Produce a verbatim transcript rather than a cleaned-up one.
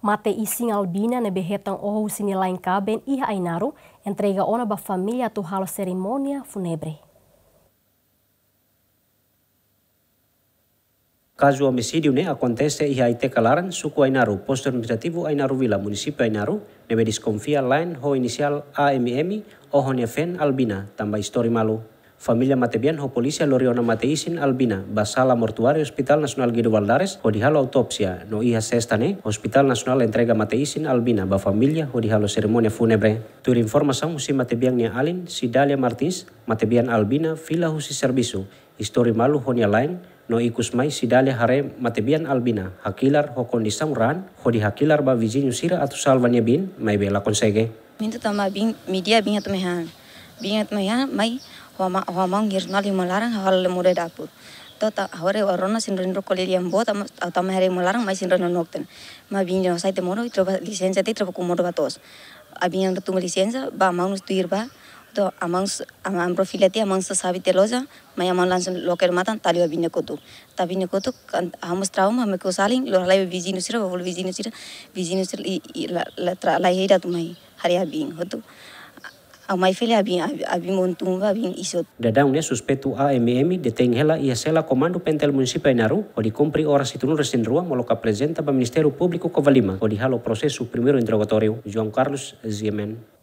Mate-isin Albina ne'ebé hetan oho husi nia la'en kaben iha Ainaro, entrega ona ba família atu halo serimónia fúnebre. Kazu omisídiu ne'e akontese iha Aiteka Laran, suku Ainaro, postu administrativu Ainaro Vila, munisípiu Ainaro, ne'ebé deskonfia la'en ho inisiál A M M, oho nia feen Albina, tanba istori malu. Família matebian ho polísia lori ona mate-isin Albina ba sala mortuáriu Hospital Nasionál Guido Valadares hodi halo autópsia, no iha sesta ne'e Hospital Nasionál entrega mate-isin Albina ba família hodi halo serimónia fúnebre. Tuir informasaun husi matebian nia alin, Cidália Martins, matebian Albina fila husi servisu, istori malu ho nia la'en, no ikus mai Cidália haree matebian Albina hakilar ho kondisaun raan, hodi hakilar ba viziñu sira atu salva nia biin, maibé la konsege. Minta tama bin, media bin atu mehan. Bin atu mehan, mai, hoa ma, hoa maun ngir nali malaran, hawal le mure dapur. To ta, hore orona sin rin roko lili ambo, tama, tama hari malaran, mai sin rin nokten. Ma bin no sai te mono, traba lisensa te, traba ku modo batos. Abin yang tuma lisensa, ba maun tuir ba. To, amang, amang profila te, amang sasabi te loja, mai amang langsung loker matan, tali abin ne kotu. Tabi ne kotu, kan, hamos trauma, hame ko saling, lo halai viziñu sira, ba bolu viziñu sira, viziñu sira, i, i, la, la, tra, la heda tu mai. Hari abin, hotu. Au mai fele abin, abin, abin montumba, abin isot. Daudaun ne'e suspeitu A M M detein hela iha sela Komandu Pentel Munisípiu Ainaro, hodi kumpre oras hitunulu resin rua molok aprezenta ba Ministériu Públiku Covalima, hodi halo prosesu primeiru interrogatóriu. João Carlos, G M N.